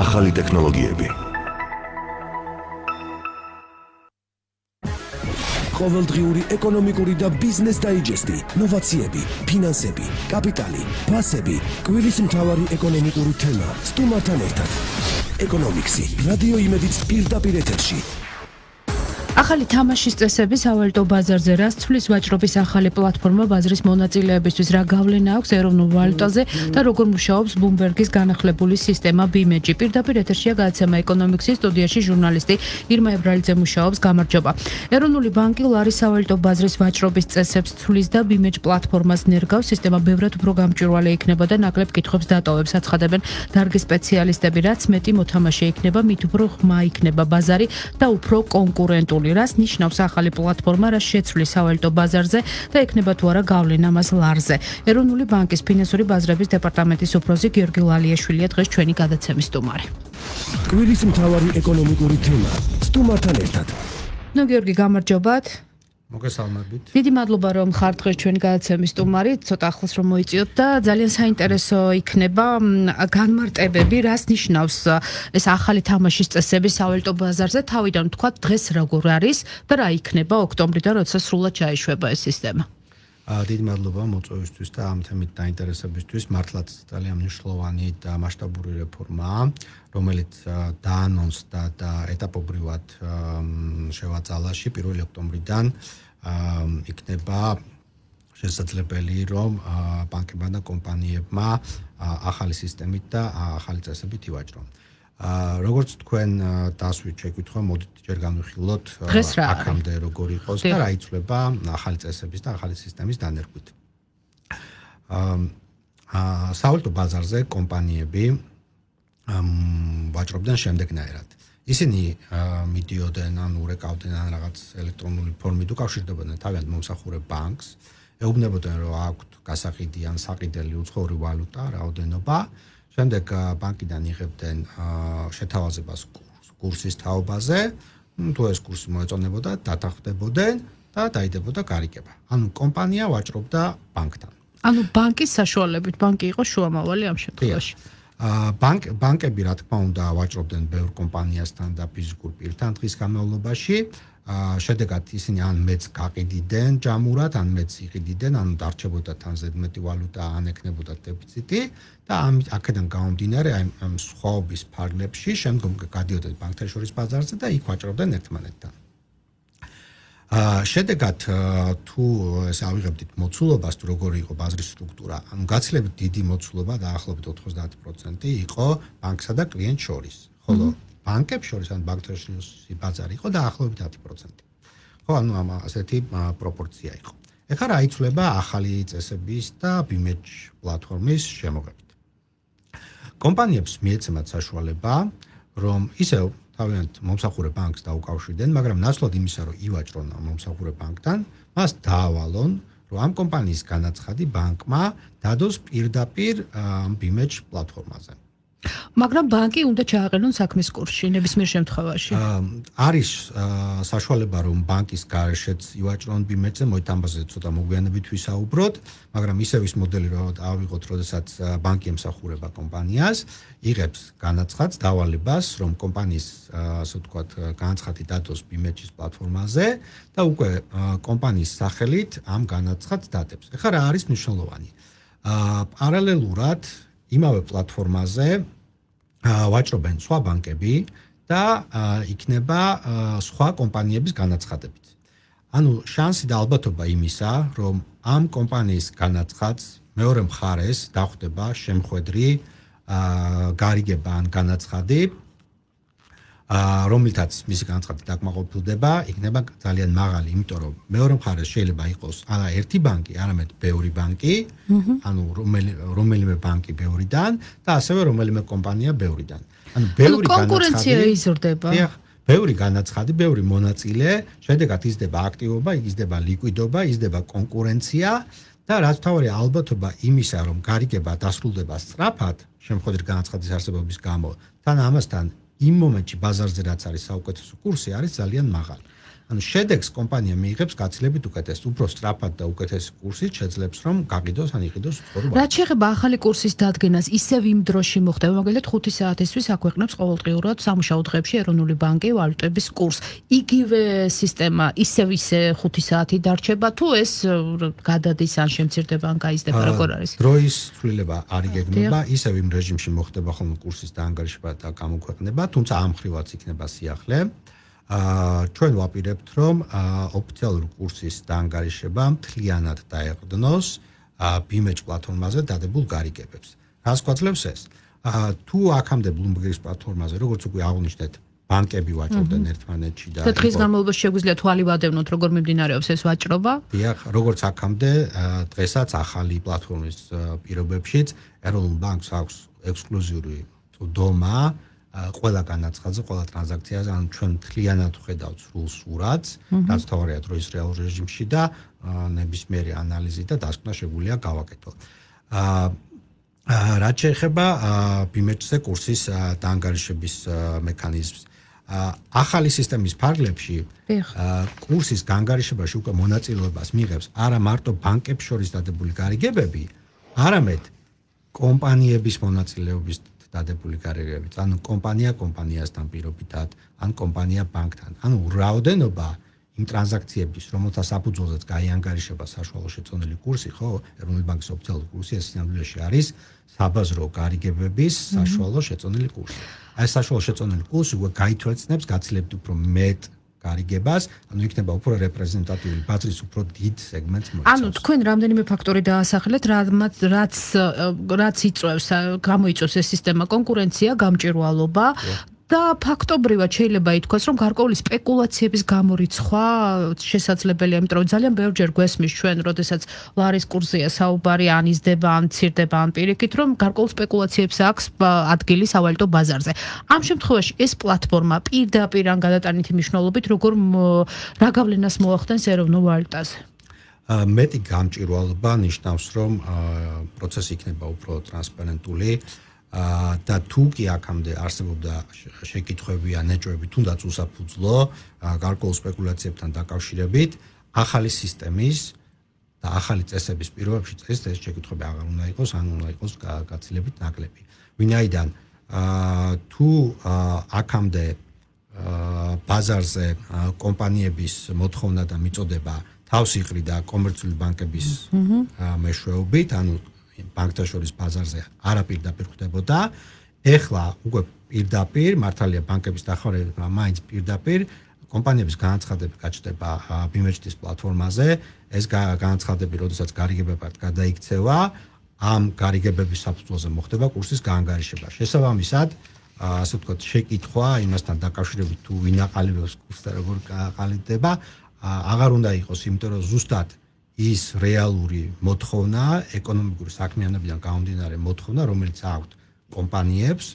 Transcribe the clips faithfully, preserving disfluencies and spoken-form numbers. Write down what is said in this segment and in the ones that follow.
ახალი ტექნოლოგიები. ყოველდღიური ეკონომიკური და ბიზნეს დაიჯესტი, ნოვაციები, ფინანსები, კაპიტალი, ფასები, კვირის მთავარი ეკონომიკური თემა, სტუმართან ერთად. ეკონომიქსი, რადიო იმედიც პირდაპირ ეთერში. ახალი თამაშის წესები სავალუტო ბაზარზე რას ცვლის ვაჭრობის ახალი პლატფორმა ბაზრის მონაწილეებისთვის რა გავლენა აქვს ეროვნულ ვალუტაზე და როგორ მუშაობს ბუმბერგის განახლებული სისტემა ბიმეჯი. პირდაპირ ეთერშია გადაცემა ეკონომიქსის სტუდიაში ჟურნალისტი ირმა ებრალიძე მუშაობს. გამარჯობა. ეროვნული ბანკი ლარის სავალუტო ბაზრის ვაჭრობის წესებს ცვლის და ბიმეჯ პლატფორმას ნერგავს. სისტემა ბევრად უფრო გამჭვირვალე იქნება და ნაკლებ კითხვებს დატოვებს. აცხადებენ დარგის სპეციალისტები, რაც მეტი მოთამაშე იქნება, მით უფრო ღრმა იქნება ბაზარი და უფრო კონკურენტული. რას ნიშნავს ახალი პლატფორმა, რა შეცვლის სავალუტო ბაზარზე და ექნება თუ არა გავლენა მას ლარზე. ეროვნული ბანკის ფინანსური ბაზრების დეპარტამენტის უფროსი გიორგი ლალიაშვილია დღეს ჩვენი გადაცემის სტუმარი. კვირის მთავარი ეკონომიკური თემა, სტუმართან ერთად. ნუ გიორგი, გამარჯობათ. მოგესალმებით. დიდი მადლობა რომ ხარ დღეს ჩვენი გადაცემის სტუმარი, ცოტა ახლოს რომ მოიწიოთ და ძალიან საინტერესო იქნება განმარტებები, რას ნიშნავს ეს ახალი თამაშის წესები სავალუტო ბაზარზე, თავიდან ვთქვათ დღეს როგორ არის და რა იქნება ოქტომბრიდან, როცა სრულად ჩაიშვება ეს სისტემა. დიდი მადლობა მოწვევისთვის და ამ თემით დაინტერესებისთვის. მართლაც ძალიან მნიშვნელოვანი და მასშტაბური რეფორმაა, რომელიც დაანონსდა და ეტაპობრივად შევაწალაში პირველი ოქტომბრიდან იქნება შესაძლებელი, რომ ბანკებმა და კომპანიებმა ახალი სისტემით და ახალი წესებით ივაჭრონ. როგორც თქვენ დასვით შეკითხვა, მოდით ჯერ განვიხილოთ აქამდე როგორ იყოს და რა იცვლება ახალი წესების და ახალი სისტემის დანერგვით. სავალუტო ბაზარზე კომპანიები ვაჭრობდნენ შემდეგნაირად. ისინი მიდიოდნენ ან ურეკავდნენ ან რაღაც ელექტრონული ფორმით უკავშირდებოდნენ თავიანთ მომსახურე ბანკს, ეუბნებოდნენ, რომ აქვთ გასაყიდი ან საყიდელი უცხოური ვალუტა, რაოდენობა. შემდეგ ბანკიდან იღებდნენ შეთავაზებას კურსის თაობაზე, თუ ეს კურსი მოეწონებოდა, დათანხმდებოდნენ და დაიდებოდა გარიგება. ანუ კომპანია ვაჭრობდა ბანკთან. ანუ ბანკის საშუალებით, ბანკი იყო შუამავალი ამ შემთხვევაში. ბანკ ბანკები რა თქმა უნდა ვაჭრობდნენ ბევრ კომპანიასთან და ფიზიკურ პირთან დღის განმავლობაში. შედეგად ისინი ან მეც გაყიდიდნენ ჯამურად, ან მეც იყიდიდნენ, ან დარჩებოდა თან ზედმეტი ვალუტა, ან ექნებოდა დეფიციტი და ამ აქედან გამომდინარე ამ სხვაობის ფარგლებში შემდგომ გადიოდნენ ბანკთა შორის ბაზარზე და იქ ვაჭრობდნენ ერთმანეთთან. შედეგად თუ ეს ავიღებდით მოცულობას, თუ როგორი იყო ბაზრის სტრუქტურა, ანუ გაცილებით დიდი მოცულობა დაახლოებით ოთხმოცდაათი პროცენტი იყო ბანკსა და კლიენტ შორის, ხოლო ბანკებს შორის ან ბანკთა შორის ბაზარი იყო დაახლოებით ათი პროცენტი. ხო, ანუ ამ ასეთი პროპორცია იყო. ეხლა რა იცვლება ახალი წესების და ბიმეჯ პლატფორმის შემოღებით. კომპანიებს მიეცემათ საშუალება, რომ ისევ თავიანთ მომსახურე ბანკს დაუკავშირდნენ, მაგრამ ნაცვლად იმისა, რომ ივაჭრონ ამ მომსახურე ბანკთან, მას დაავალონ, რომ ამ კომპანიის განაცხადი ბანკმა დადოს პირდაპირ ბიმეჯ პლატფორმაზე. მაგრამ ბანკი უნდა ჩააყენონ საქმის კურსში ნებისმიერ შემთხვევაში. არის საშუალება, რომ ბანკის გარეშეც ივაჭრონ ბიმეჯზე, მოით ამაზე ცოტა მოგვიანებით ვისაუბროთ, მაგრამ ისევ ის მოდელი რომ ავიღოთ, როდესაც ბანკი ემსახურება კომპანიას, იღებს განაცხადს, დავალებას, რომ კომპანიის, ასე ვთქვათ, განაცხადი დადოს ბიმეჯის პლატფორმაზე და უკვე კომპანიის სახელით ამ განაცხადს დადებს. ეხლა რა არის მნიშვნელოვანი? პარალელურად იმავე პლატფორმაზე ვაჭრობენ სხვა ბანკები და იქნება სხვა კომპანიების განაცხადებით. ანუ შანსი და ალბათობა იმისა, რომ ამ კომპანიის განაცხადს მეორე მხარეს დახვდება შემხვედრი გარიგება ან განაცხადი, რომლითაც მისი განაცხადი დაკმაყოფილდება, იქნება ძალიან მაღალი, იმიტომ რომ მეორე მხარეს შეიძლება იყოს არა ერთი ბანკი, არამედ ბევრი ბანკი, ანუ რომელიმე ბანკი ბევრიდან და ასევე რომელიმე კომპანია ბევრიდან. ანუ ბევრი კონკურენცია იზრდება. ბევრი განაცხადი, ბევრი მონაწილე, შედეგად იზრდება აქტივობა, იზრდება ლიკვიდობა, იზრდება კონკურენცია და რაც თავარი ალბათობა იმისა, რომ გარიგება დასრულდება სწრაფად, შემოხვედრი განაცხადის არსებობის გამო, თან ამასთან იმ მომენტში ბაზარზე რაც არის საუკეთესო კურსი არის ძალიან მაღალი. ანუ შედეგს კომპანია მიიღებს გაცილებით უკეთეს, უფრო სწრაფად და უკეთესი კურსით შეძლებს რომ გაყიდოს ან იყიდოს უცხოურ ვალუტას. რაც შეეხება ახალი კურსის დადგენას, ისევ იმ დროში მოხდება, მაგალითად ხუთი საათისთვის აქვეყნებს ყოველდღიურად სამუშაო დღეებში ეროვნული ბანკი ვალუტების კურსს. იგივე სისტემა ისევ ისე ხუთი საათი დარჩება თუ ეს გადადის ან შემცირდება ან გაიზრდება, როგორ არის? დროის ცვლილება არ იგეგმება, ისევ იმ რეჟიმში მოხდება ხოლმე კურსის დაანგარიშება და გამოქვეყნება, თუმცა ამ ხრივაც იქნება სიახლე. აა ჩვენ ვაპირებთ რომ ოფიციალური კურსის დაანგარიშება მთლიანად დაეყრდნოს ბიმეჯ პლატფორმაზე დადებულ გარიგებებს. რას გვაძლევს ეს? აა თუ აქამდე Bloomberg-ის პლატფორმაზე, როგორც უკვე აღვნიშნეთ, ბანკები ვაჭრობდნენ ერთმანეთში და დღის განმავლობაში შეგვიძლია თვალი ვადევნოთ, როგორ მიმდინარეობს ეს ვაჭრობა? დიახ, როგორც აქამდე, დღესაც ახალი პლატფორმის პირობებშიც ეროვნულ ბანკს აქვს ექსკლუზიური წვდომა ყველა განაცხადზე, ყველა ტრანზაქციაზე, ანუ ჩვენ მთლიანად ვხედავთ სრულ სურათს, რაც თავარია დროის რეალურ რეჟიმში და ნებისმიერი ანალიზით და დასკვნა შეგვიძლია გავაკეთოთ. რაც შეეხება ბიმეჯზე კურსის დაანგარიშების მექანიზმს, ახალი სისტემის ფარგლებში კურსის გაანგარიშებაში უკვე მონაწილეობას მიიღებს არა მარტო ბანკებს შორის დადებული გარიგებები, არამედ კომპანიების მონაწილეობის დადებული გარიგებები, ანუ კომპანია კომპანიასთან პირობითად, ან კომპანია ბანკთან. ანუ რაოდენობა იმ ტრანზაქციების, რომელთა საფუძველზეც გაიანგარიშება საშუალო შეწონილი კურსი, ხო, ეროვნული ბანკის ოფიციალური კურსი ეს სინამდვილეში არის საბაზრო გარიგებების საშუალო შეწონილი კურსი. აი საშუალო შეწონილი კურსი უკვე გაითვალისწინებს გაცილებით უფრო მეტ გარიგებას, ანუ იქნება უფრო რეპრეზენტატიული ბაზრის უფრო დიდ სეგმენტს მოიცავს. ანუ თქვენ რამდენიმე ფაქტორი დაასახელეთ, რაც რაც რაც იწვევს, გამოიწვევს ეს სისტემა კონკურენცია, გამჭვირვალობა და ფაქტობრივად შეიძლება ითქვას, რომ გარკვეული სპეკულაციების გამორიცხვა შესაძლებელია, იმიტომ რომ ძალიან ბევრჯერ გვესმის ჩვენ, როდესაც ლარის კურსია საუბარი, ან იზრდება, ან მცირდება, ან პირიქით, რომ გარკვეულ სპეკულაციებს აქვს ადგილი სავალუტო ბაზარზე. ამ შემთხვევაში ეს პლატფორმა პირდაპირ ან გადატანითი მნიშვნელობით როგორ რა გავლენას მოახდენს ეროვნულ ვალუტაზე? მეტი გამჭვირვალობა ნიშნავს, რომ პროცესი იქნება უფრო ტრანსპარენტული. და თუ კი აქამდე არსებობდა შეკითხვები ან ეჭვები თუნდაც უსაფუძვლო გარკვეულ სპეკულაციებთან დაკავშირებით, ახალი სისტემის და ახალი წესების პირობებში ეს შეკითხვები აღარ უნდა იყოს, ან უნდა იყოს გაცილებით ნაკლები. ვინაიდან თუ აქამდე ბაზარზე კომპანიების მოთხოვნა და მიწოდება თავს იყრიდა კომერციული ბანკების მეშვეობით, ანუ ბანკთა შორის ბაზარზე არაპირდაპირ ხდებოდა. ეხლა უკვე პირდაპირ მართალია ბანკების დახმარებით, მაინც პირდაპირ კომპანიების განაცხადები გაჩნდება ბიმეჯის პლატფორმაზე. ეს განაცხადები, როდესაც გარიგებებად გადაიქცევა, ამ გარიგებების საფუძველზე მოხდება კურსის გაანგარიშება. შესაბამისად, ასე ვთქვათ, შეკითხვა იმასთან დაკავშირებით თუ ვინ აყალიბებს კურსს და როგორ აყალიბდება, აღარ უნდა იყოს, იმიტომ რომ ზუსტად ის რეალური მოთხოვნა, ეკონომიკური საქმიანობიდან გამომდინარე მოთხოვნა, რომელიც აქვთ კომპანიებს,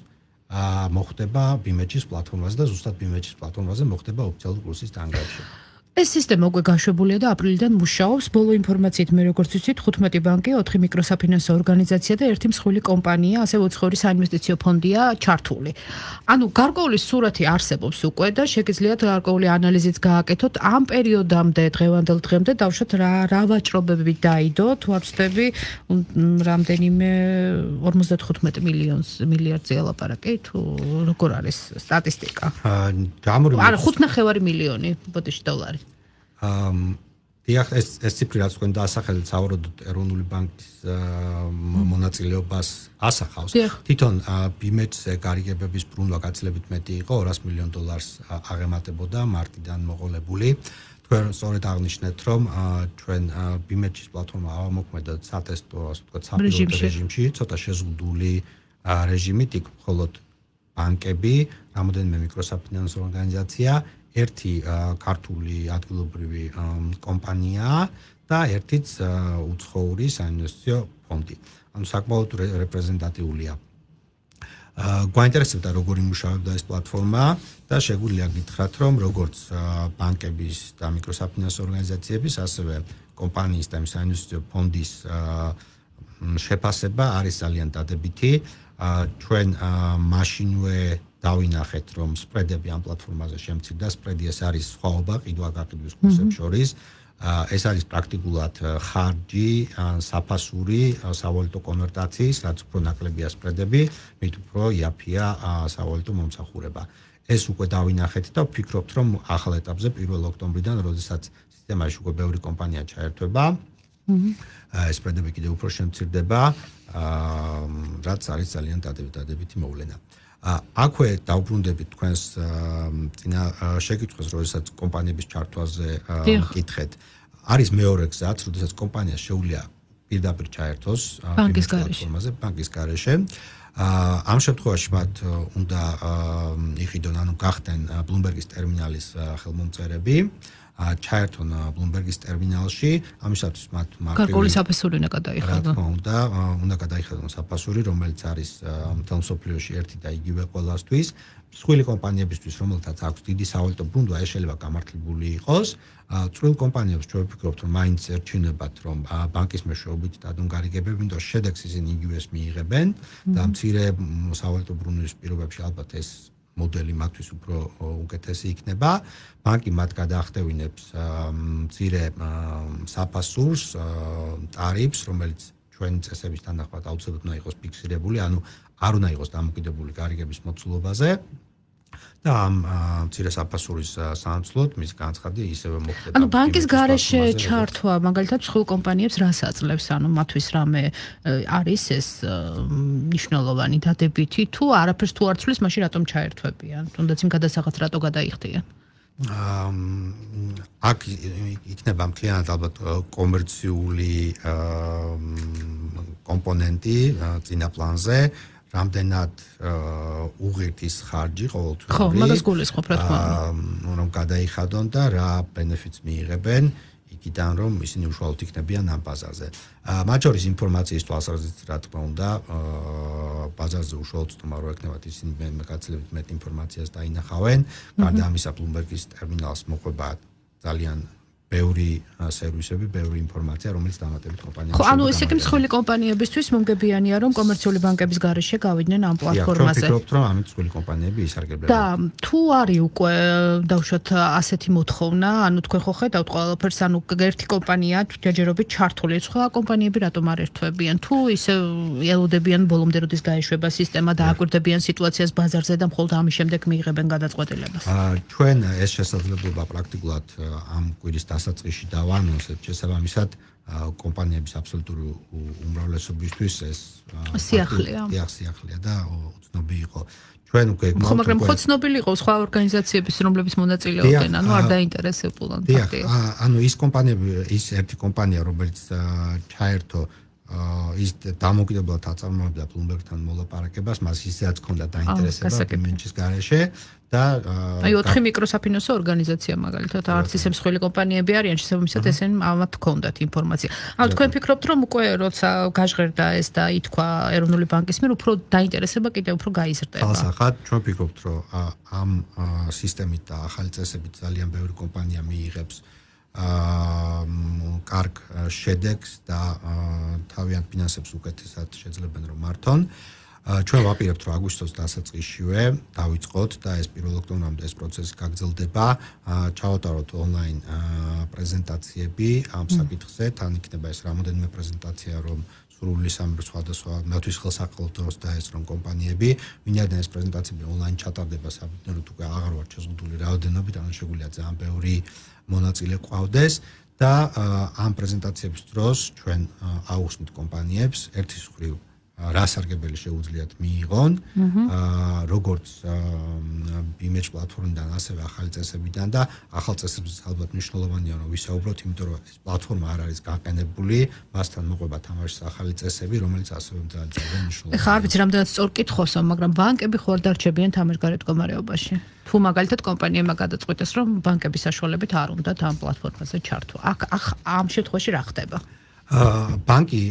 მოხდება ბიმეჯის პლატფორმაზე და ზუსტად ბიმეჯის პლატფორმაზე მოხდება ოფიციალური კურსის დაანგარიშება. ეს სისტემა უკვე გაშვებულია და აპრილიდან მუშაობს. ბოლო ინფორმაციით მე როგორც ვიცით, თხუთმეტი ბანკი, ოთხი მიკროსაფინანსო ორგანიზაცია და ერთი მსხვილი კომპანია, ასევე უცხოური საინვესტიციო ფონდია ჩართული. ანუ გარკვეული სურათი არსებობს უკვე და შეგიძლიათ გარკვეული ანალიზიც გააკეთოთ ამ პერიოდამდე, დღევანდელ დღემდე დავუშვათ რა რა ვაჭრობები დაიდო, თუ ვაცდები რამდენიმე ორმოცდათხუთმეტი მილიონს მილიარდზე ელაპარაკი, თუ როგორ არის სტატისტიკა? ანუ ხუთნახევარი მილიონი ბოდიში დოლარი. დიახ, ეს ეს ციფრი რაც თქვენ დაასახელეთ, სავარაუდოდ ეროვნული ბანკის მონაწილეობას ასახავს. თვითონ ბიმეჯზე გარიგებების ბრუნვა გაცილებით მეტი იყო, ორას მილიონ დოლარს აღემატებოდა მარტიდან მოყოლებული. თქვენ სწორედ აღნიშნეთ, რომ ჩვენ ბიმეჯის პლატფორმა ავამოქმედოთ სატესტო, ასე ვთქვათ, საპილოტო რეჟიმში, ცოტა შეზღუდული რეჟიმით, იქ მხოლოდ ბანკები, რამოდენიმე მიკროსაფინანსო ორგანიზაცია, ერთი ქართული ადგილობრივი კომპანია და ერთიც უცხოური საინვესტიციო ფონდი. ანუ საკმაოდ რეპრეზენტატიულია. გვაინტერესებდა როგორ იმუშავებდა ეს პლატფორმა და შეგვიძლია გითხრათ, რომ როგორც ბანკების და მიკროსაფინანსო ორგანიზაციების, ასევე კომპანიის და საინვესტიციო ფონდის შეფასება არის ძალიან დადებითი. ჩვენ მაშინვე დავინახეთ, რომ სპრედები ამ პლატფორმაზე შემცირდა, სპრედი ეს არის სხვაობა ყიდვა-გაყიდვის კურსებს შორის. ეს არის პრაქტიკულად ხარჯი, საფასური, სავალუტო კონვერტაციის, რაც უფრო ნაკლებია სპრედები, მით უფრო იაფია სავალუტო მომსახურება. ეს უკვე დავინახეთ და ვფიქრობთ, რომ ახალ ეტაპზე პირველ ოქტომბრიდან, როდესაც სისტემაში უკვე ბევრი კომპანია ჩაერთვება, ეს სპრედები კიდევ უფრო შემცირდება, რაც არის ძალიან დადებითი მოვლენა. აქვე დავბრუნდებით თქვენს წინა შეკითხვას, როდესაც კომპანიების ჩართვაზე მკითხეთ. არის მეორე გზაც, როდესაც კომპანიას შეუძლია პირდაპირ ჩაერთოს ბანკის პლატფორმაზე, ბანკის გარეშე. ამ შემთხვევაში მათ უნდა იყიდონ, ანუ გახდნენ Bloomberg-ის ტერმინალის ხელმომწერები, ჩაერთონ Bloomberg-ის ტერმინალში, ამისათვის მათ გარკვეული საფასური უნდა გადაიხადონ. რა თქმა უნდა, უნდა გადაიხადონ საფასური, რომელიც არის მთელ მსოფლიოში ერთი და იგივე ყველასთვის. მსხვილი კომპანიებისთვის, რომელთაც აქვს დიდი სავალუტო ბრუნვა, ეს შეიძლება გამართლებული იყოს. წვრილ კომპანიებს ჩვენ ვფიქრობთ, რომ მაინც ერჩინებათ, რომ ბანკის მეშვეობით დადონ გარიგებები, იმიტომ რომ შედეგს ისინი იგივეს მიიღებენ და მცირე სავალუტო ბრუნვის პირობებში ალბათ ეს მოდელი მათთვის უფრო უკეთესი იქნება. ბანკი მათ გადაახდევინებს მცირე საფასურს, ტარიფს, რომელიც ჩვენი წესების თანახმად აუცილებლად უნდა იყოს ფიქსირებული, ანუ არ უნდა იყოს დამოკიდებული გარიგების მოცულობაზე. და ამ მცირე საფასურის სანაცვლოდ მის განცხადი ისევე მოხდება. ანუ ბანკის გარეშე ჩართვა, მაგალითად, სხვილ კომპანიებს რას აძლევს? ანუ მათთვის რამე არის ეს მნიშვნელოვანი დადებითი თუ არაფერს თუ არ ცვლის, მაშინ რატომ ჩაერთვებიან? თუნდაც იმ გადასახადს რატო გადაიხდიან? აქ იქნება მთლიანად ალბათ კომერციული კომპონენტი წინა პლანზე. რამდენად უღირთის ხარჯი ყოველთვის ხო, მაგას გულისხმობ, რა თქმა უნდა, რომ გადაიხადონ და რა ბენეფიტს მიიღებენ იქიდან, რომ ისინი უშუალოდ იქნებიან ამ ბაზარზე. მათ შორის ინფორმაციის თვალსაზრისით, რა თქმა უნდა, ბაზარზე უშუალოდ სტუმარ რო ექნებათ, ისინი მეკაცლებით მეტ ინფორმაციას დაინახავენ. გარდა ამისა, Bloomberg-ის ტერმინალს მოყვება ძალიან ბევრი სერვისები, ბევრი ინფორმაცია, რომელიც დამატებით კომპანიებს ხო, ანუ ესე კი მსხვილი კომპანიებისთვის მომგებიანია, რომ კომერციული ბანკების გარეშე გავიდნენ ამ პლატფორმაზე. ვფიქრობთ, რომ ამით მსხვილი კომპანიები ისარგებლებენ. და თუ არის უკვე დავუშვათ ასეთი მოთხოვნა, ანუ თქვენ ხო ხედავთ ყველაფერს, ანუ ერთი კომპანია ჯერჯერობით ჩართული, სხვა კომპანიები რატომ არ ერთვებიან? თუ ისე ელოდებიან ბოლომდე როდის გაეშვება სისტემა და აკვირდებიან სიტუაციას ბაზარზე და მხოლოდ ამის შემდეგ მიიღებენ გადაწყვეტილებას. ჩვენ ეს შესაძლებლობა პრაქტიკულად ამ კვირის დასაწყისში დავანონსებთ, შესაბამისად კომპანიების აბსოლუტური უმრავლესობისთვის ეს სიახლეა. სიახლეა და უცნობი იყო. ჩვენ უკვე ხო, მაგრამ ხო ცნობილი იყო სხვა ორგანიზაციების, რომლებიც მონაწილეობდნენ, ანუ არ დაინტერესებულან ფაქტია. ანუ ის კომპანიები, ის ერთი კომპანია, რომელიც ჩაერთო ის დამოკიდებლად აწარმოებდა Bloomberg-თან მოლაპარაკებას, მას ისედაც ჰქონდა დაინტერესება იმენჩის გარეშე და აი ოთხი მიკროსაფინანსო ორგანიზაცია მაგალითად, არც ისე მსხვილი კომპანიები არიან, შესაბამისად ესენ ამათ ჰქონდათ ინფორმაცია. ანუ თქვენ ფიქრობთ, რომ უკვე როცა გაჟღერდა ეს და ითქვა ეროვნული ბანკის მიერ, უფრო დაინტერესება კიდევ უფრო გაიზრდება. თალსახად, ჩვენ ვფიქრობთ, რომ ამ სისტემით და ახალი წესებით ძალიან ბევრი კომპანია მიიღებს აა კარგ შედეგს და თავიანთ ფინანსებს უკეთესად შეძლებენ რომ მართონ. ჩვენ ვაპირებთ რომ აგვისტოს დასაწყისშივე დავიწყოთ და ეს პირველ ოქტომბრამდე ეს პროცესი გაგრძელდება. ჩავატაროთ ონლაინ პრეზენტაციები ამ საკითხზე, თან იქნება ეს რამოდენიმე პრეზენტაცია რომ სრული სამი სხვადასხვა მათთვის ხელსაყრელ დროს და ეს რომ კომპანიები ვინაიდან ეს პრეზენტაციები ონლაინ ჩატარდება საბუნებოდ უკვე აღარ ვარ შეზღუდული რაოდენობით, ანუ შეგვიძლია ძალიან ბევრი მონაწილე ყავდეს და ამ პრეზენტაციების დროს ჩვენ აუხსნით კომპანიებს ერთის მხრივ რა სარგებელი შეუძლიათ მიიღონ, როგორც image პლატფორმიდან, ასევე ახალი წესებიდან და ახალ წესებზე ალბათ მნიშვნელოვანია რომ ვისაუბროთ, იმიტომ რომ ეს პლატფორმა არ არის გაყენებული, მასთან მოყვება თამაშის ახალი წესები, რომელიც ასევე ძალიან მნიშვნელოვანია. ეხლა არ ვიცი რამდენად სწორ კითხოსო, მაგრამ ბანკები ხო არ დარჩებიან თამაშგარეთ მდგომარეობაში? თუ მაგალითად კომპანიებმა გადაწყვიტეს, რომ ბანკების საშუალებით არ უნდათ ამ პლატფორმაზე ჩართვა. აქ ამ შემთხვევაში რა ხდება? ბანკი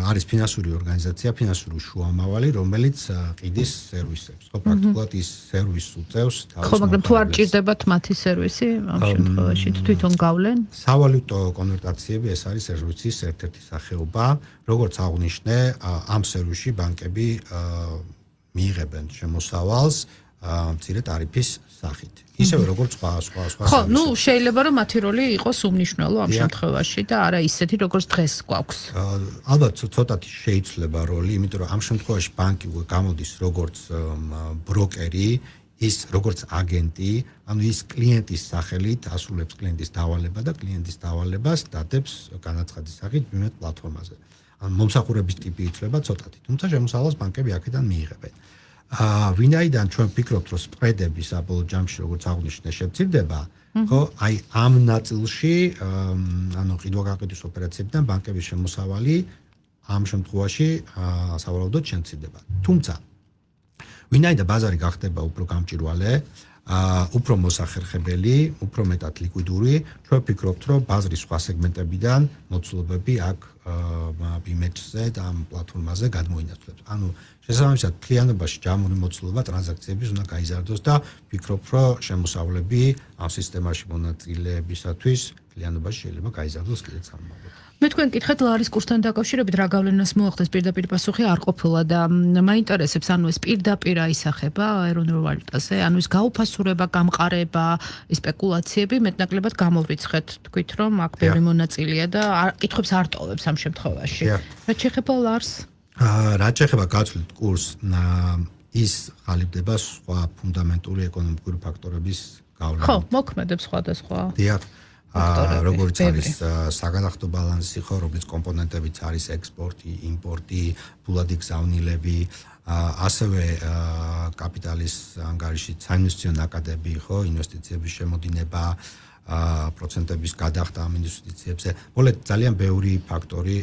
არის ფინანსური ორგანიზაცია, ფინანსური შუამავალი, რომელიც ყიდის სერვისებს. ხო, პრაქტიკულად ის სერვისს უწევს თავის. ხო, მაგრამ თუ არ ჭირდებათ მათი სერვისი, ამ შემთხვევაში თვითონ გავლენ? სავალუტო კონვერტაციები ეს არის სერვისის ერთ-ერთი სახეობა, როგორც აღნიშნე, ამ სერვისში ბანკები მიიღებენ შემოსავალს მცირე ტარიფის სახით. ისევე როგორც სხვა სხვა სხვა ხო, ნუ შეიძლება რომ მათი როლი იყოს უმნიშვნელო ამ შემთხვევაში და არა ისეთი როგორც დღეს გვაქვს. ალბათ ცოტათი შეიძლება როლი, იმიტომ რომ ამ შემთხვევაში ბანკი გამოდის როგორც ბროკერი, ის როგორც აგენტი, ანუ ის კლიენტის სახელით ასრულებს კლიენტის დავალება და კლიენტის დავალებას დადებს განაცხადის სახით ბიუმეტ პლატფორმაზე. ან მომსახურების ტიპი იცვლება ცოტათი, თუმცა შემოსავალს ბანკები აქედან მიიღებენ. აა ვინაიდან ჩვენ ვფიქრობთ რომ სპრედები საბოლოო ჯამში როგორც აღნიშნე შეცვლდება, ხო, აი ამ ნაწილში ანუ ყიდვა-გაყიდვის ოპერაციებიდან ბანკების შემოსავალი ამ შემთხვევაში სავარაუდოდ შემცირდება. თუმცა ვინაიდან ბაზარი გახდება უფრო გამჭვირვალე, აა უფრო მოსახერხებელი, უფრო მეტად ლიკვიდური, ჩვენ ვფიქრობთ რომ ბაზრის სხვა სეგმენტებიდან მოცულობები აქ ბიმეჩზე და ამ პლატფორმაზე გადმოინაცვლებს. ანუ შესაბამისად კლიანობაში ჯამური მოცულობა ტრანზაქციების უნდა გაიზარდოს და ვფიქრობ რომ შემოსავლები ამ სისტემაში მონაწილეებისათვის კლიანობაში შეიძლება გაიზარდოს კიდეც ამბობთ. მე თქვენ კითხეთ ლარის კურსთან დაკავშირებით რა გავლენას მოახდენს პირდაპირ პასუხი არ ყოფილა და მაინტერესებს ანუ ეს პირდაპირ აისახება ეროვნულ ვალუტაზე, ანუ ეს გაუფასურება, გამყარება, სპეკულაციები მეტნაკლებად გამოვრიცხეთ, თქვით რომ აქ ბევრი მონაწილეა და კითხვებს არ ტოვებს ამ შემთხვევაში. რა შეეხება ლარს? რა შეეხება გაცვლით კურსს, ის ხალიფდება სხვა ფუნდამენტური ეკონომიკური ფაქტორების გავლენით. ხო, მოქმედებს სხვადასხვა. დიახ. როგორც არის საგანახტო ბალანსი, ხო, რომლის კომპონენტებიც არის ექსპორტი, იმპორტი, ფულადი გზავნილები, ასევე კაპიტალის ანგარიში საინვესტიციო ნაკადები, ხო, ინვესტიციების შემოდინება, პროცენტების გადახდა ამ ინვესტიციებზე. მოლეთ ძალიან ბევრი ფაქტორი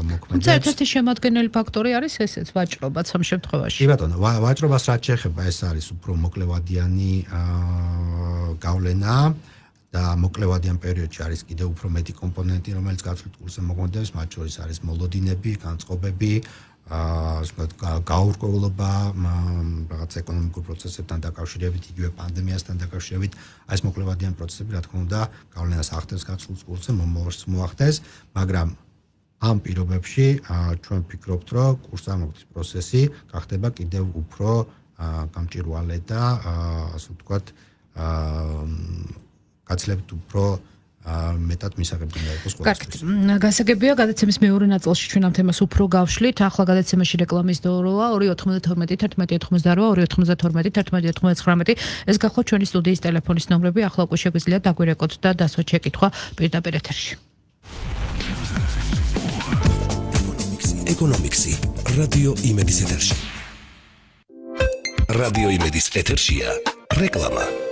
მოქმედებს. თუმცა ერთ-ერთი შემადგენელი ფაქტორი არის ესეც ვაჭრობაც ამ შემთხვევაში. კი ბატონო, ვაჭრობას რაც შეეხება, ეს არის უფრო მოკლევადიანი გავლენა. და მოკლევადიან პერიოდში არის კიდევ უფრო მეტი კომპონენტი, რომელიც გაცვლით კურსზე მოქმედებს, მათ შორის არის მოლოდინები, განწყობები, აა გაურკვევლობა, რაღაც ეკონომიკურ პროცესებთან დაკავშირებით, იგივე პანდემიასთან დაკავშირებით, აი ეს მოკლევადიან პროცესები, რა თქმა უნდა, გავლენას ახდენს გაცვლით კურსზე, მომავალს მოახდენს, მაგრამ ამ პირობებში ჩვენ ვფიქრობთ, რომ კურსამოქმედის პროცესი გახდება კიდევ უფრო გამჭვირვალე და ასე ვთქვათ, აა გაცლებთ უფრო მეტად მისაღებია იყოს ყველა. კარგით. გასაგებია, გადაცემის მეორე ნაწილში ჩვენ ამ თემას უფრო გავშლით. ახლა გადაცემაში რეკლამის დოროა ორი ოთხმოცდათორმეტი ერთმანეთი ოცდაოთხმოცდაოთხ ორი ოთხმოცდათორმეტი ერთმანეთი ოცდათხმეტი. ეს გახლავთ ჩვენი სტუდიის ტელეფონის ნომრები. ახლა უკვე შეგვიძლია დაგვირეკოთ და დასვათ შეკითხვა პირდაპირ ეთერში. ეკონომიქსი რადიო იმედის ეთერში. რადიო იმედის ეთერშია რეკლამა.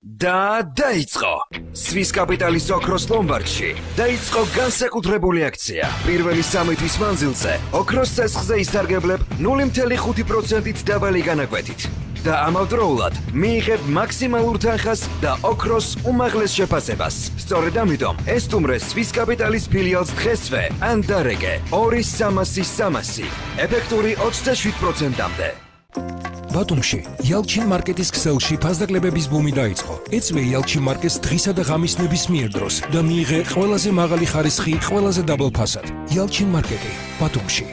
და დაიწყო სვის კაპიტალის ოქროს ლომბარდში დაიწყო განსაკუთრებული აქცია პირველი სამი თვის მანძილზე ოქროს ცეცხლზე ისარგებლებ ნული ფاصლე ხუთი პროცენტით დაბალი განაკვეთით და ამავდროულად მიიღებ მაქსიმალურ თანხას და ოქროს უმაღლეს შეფასებას. სწორედ ამიტომ ესტუმრე სვის კაპიტალის ფილიალს დღესვე ან დარეგე ორი სამასი სამასი ეფექტური ოცდაშვიდ პროცენტამდე. ბათუმში იალჩინ მარკეტის ქსელში ფასდაკლებების ბუმი დაიწყო. ეწვე იალჩინ მარკეტს დღისა და ღამის ნებისმიერ დროს და მიიღე ყველაზე მაღალი ხარისხი ყველაზე დაბალ ფასად. იალჩინ მარკეტი ბათუმში.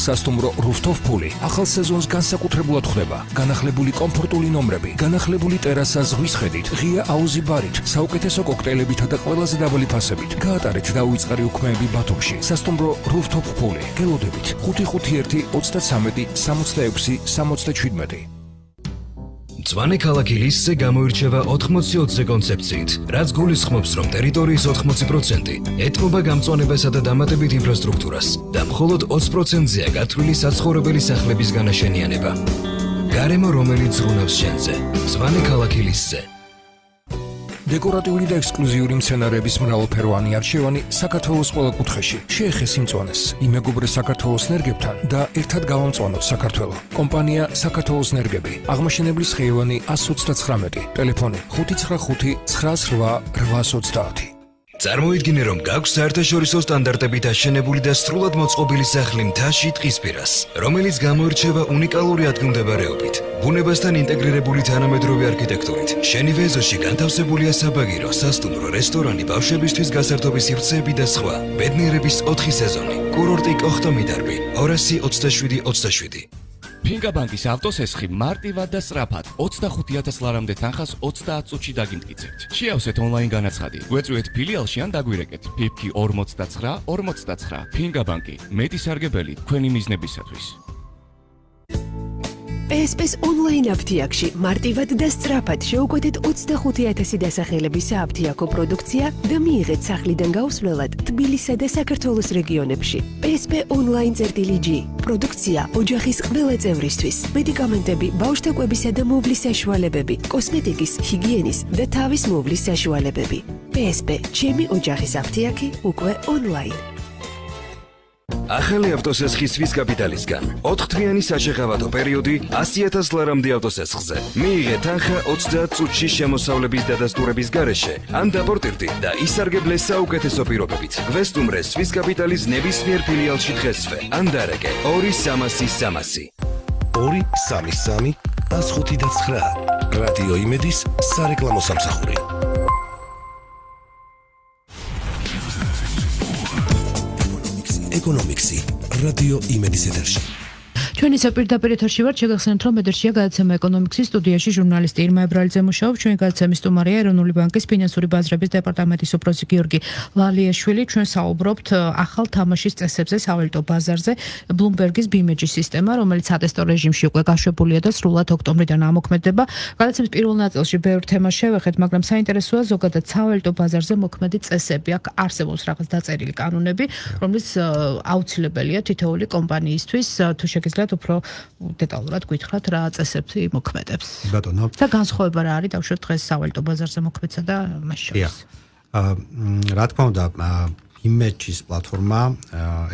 სასტუმრო რუსტოვ ფული ახალ სეზონს განსაკუთრებულად ხვდება. განახლებული კომფორტული ნომრები, განახლებული ტერასა ზღვის ხედით, ღია აუზი ბარით, საუკეთესო კოქტეილებითა და ყველაზე დაბალი ფასებით. გაატარეთ დაუვიწყარი უქმეები ბათუმში. სასტუმრო რუსტოვ ფული. გელოდებით ხუთი ხუთი ერთი ოცდათრამეტი სამოცდაექვსი სამოცდაჩვიდმეტი. მწვანე ქალაქი ლისზე გამოირჩევა ოთხმოცი ოცზე კონცეფციით, რაც გულისხმობს, რომ ტერიტორიის ოთხმოცი პროცენტი ეთმობა გამწვანებასა და დამატებით ინფრასტრუქტურას და მხოლოდ ოცი პროცენტზეა გათვლილი საცხოვრებელი სახლების განაშენიანება. გარემო, რომელიც ზრუნავს შენზე. მწვანე ქალაქი ლისზე. დეკორატიული და ექსკლუზიური მცენარეების მრავალფეროვანი არჩევანი საქართველოს ყველა კუთხეში. შეეხეს იმწვანეს, იმეგობრე საქართველოს ნერგებთან და ერთად გავამწვანოთ საქართველო. კომპანია საქართველოს ნერგები. აღმაშენებლის ხეივანი ათს ოცდათხრამეტი. ტელეფონი ხუთი ცხრა ხუთი ცხრა ცხრა რვას ოცდაათი. წარმოიდგინე, რომ გაქვს საერთაშორისო სტანდარტებით აშენებული და სრულად მოწყობილი სახლი მთაში ტყისპირას, რომელიც გამოირჩევა უნიკალური ადგილმდებარეობით, ბუნებასთან ინტეგრირებული თანამედროვე არქიტექტურით. შენივე ეზოში განთავსებულია საბაგირო, სასტუმრო, რესტორანი, ბავშვებისთვის გასართობი სივრცეები და სხვა. ბედნიერების ოთხი სეზონი. კურორტი კოხტომიდარბი ორასი ოცდაშვიდი ოცდაშვიდი. ფინგა ბანკის ავტოსესხი მარტივად და სწრაფად ოცდახუთი ათას ლარამდე თანხას ოცდაათ წუთში დაგიმტკიცებთ. შეავსეთ ონლაინ განაცხადი. გვეწვიეთ ფილიალში ან დაგვირეკეთ. ფიფკი ორმოცდაცხრა ორმოცდაცხრა. ფინგა ბანკი. მეტი სარგებელი თქვენი მიზნებისათვის. პი ეს პი-ს ონლაინ აფთიაქში მარტივად და სწრაფად შეუკვეთეთ ოცდახუთი ათასი დასახელების სააფთიაქო პროდუქცია და მიიღეთ სახლიდან გაუსვლელად თბილისსა და საქართველოს რეგიონებში. პი ეს პი ონლაინ წერტილი ჯი. პროდუქცია ოჯახის ყველა წევრისთვის. მედიკამენტები, ბავშვთა კვებისა და მოვლის საშუალებები, კოსმეტიკის, ჰიგიენის და თავის მოვლის საშუალებები. პი ეს პი ჩემი ოჯახის აფთიაქი უკვე ონლაინ. ახალი ავტოსესხი სვის კაპიტალისგან. ოთხთვიანი საშეხავათო პერიოდი ასი ათას ლარამდე ავტოსესხზე. მიიღე თანხა ოცდაათ წუთში შემოსავლების დადასტურების გარეშე, ან დაპორტირდი და ისარგებლე საუკეთესო პირობებით. გვესტუმრე სვის კაპიტალის ნებისმიერ ფილიალში დღესვე, ან დარეკე ორი სამასი სამასი. ორი სამი სამი ას ხუთი და ცხრა. რადიო იმედის სარეკლამო სამსახური. ეკონომიქსი რადიო იმედის ეთერში. ჩვენ ისე პირდაპირ ეთერში ვართ, შეგახსენებთ, რომ ეთერშია გადაცემა ეკონომიქსის სტუდიაში ჟურნალისტი ირმა ებრალიძე მუშაობს, ჩვენი გადაცემის სტუმარია ეროვნული ბანკის ფინანსური ბაზრების დეპარტამენტის უფროსი გიორგი ვალიაშვილი. ჩვენ საუბრობთ ახალ თამაშის წესებზე, სავალუტო ბაზარზე, ბლუმბერგის ბიმეჯის სისტემა, რომელიც სატესტო რეჟიმში უკვე გაშვებულია და სრულად ოქტომბრიდან ამოქმედება. გადაცემის პირველ ნაწილში ბევრ თემას შევეხეთ, მაგრამ საინტერესოა ზოგადად სავალუტო ბაზარზე მოქმედი წესები. აქ არსებობს რაღაც დაწერილი კანონები, რომლის აუცილებელია თითოეული კომპანიისთვის, თუ შეგიძლიათ უფრო დეტალურად გითხრათ რა წესები მოქმედებს. ბატონო. და განსხვავება რა არის დავუშვათ დღეს სავალუტო ბაზარზე მოქმედსა და მას შორის. აა რა თქმა უნდა, იმეჯის პლატფორმა,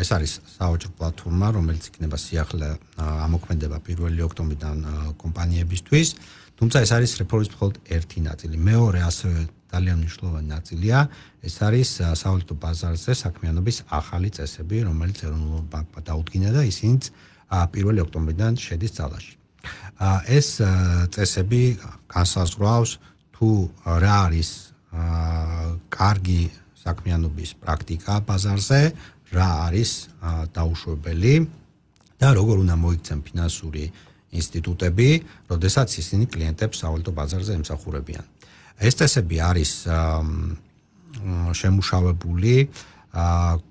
ეს არის საოჯრო პლატფორმა, რომელიც იქნება სიახლე ამოქმედება პირველი ოქტომბრიდან კომპანიებისთვის, თუმცა ეს არის რეფორმის მხოლოდ ერთი ნაწილი. მეორე ასევე ძალიან მნიშვნელოვანი ნაწილია, ეს არის სავალუტო ბაზარზე საქმიანობის ახალი წესები, რომელიც ეროვნულ ბანკმა დაუდგინა და ისინიც პირველი ოქტომბრიდან შედის ძალაში. ეს წესები განსაზღვრავს თუ რა არის კარგი საქმიანობის პრაქტიკა ბაზარზე, რა არის დაუშვებელი და როგორ უნდა მოიქცენ ფინანსური ინსტიტუტები, როდესაც ისინი კლიენტებს სავალუტო ბაზარზე ემსახურებიან. ეს წესები არის შემუშავებული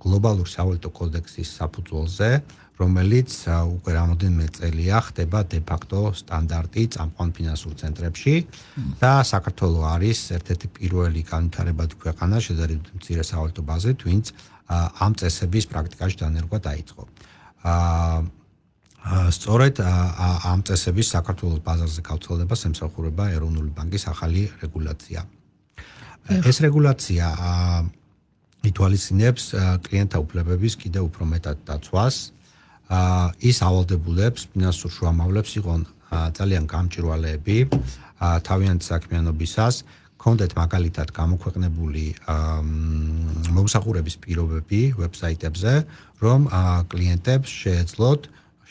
გლობალური სავალუტო კოდექსის საფუძველზე, რომელიც უკვე რამოდენიმე წელია ხდება დე-ფაქტო სტანდარტი წამყვან ფინანსურ ცენტრებში და საქართველოს არის ერთ-ერთი პირველი განვითარებადი ქვეყანა შედარებით მცირე სავალუტო ბაზრით, ვინც ამ წესების პრაქტიკაში დანერგვა დაიწყო. სწორედ ამ წესების საქართველოს ბაზარზე გავრცელებას ემსახურება ეროვნული ბანკის ახალი რეგულაცია. ეს რეგულაცია ითვალისწინებს კლიენტთა უფლებების კიდევ უფრო მეტად დაცვას. ის ავალდებულებს ფინანსურ შუამავლებს იყონ ძალიან გამჭვირვალეები თავიანთი საქმიანობისას, კონდეთ მაგალითად გამოქვეყნებული მომსახურების პირობები ვებსაიტებზე, რომ კლიენტებს შეეძლოთ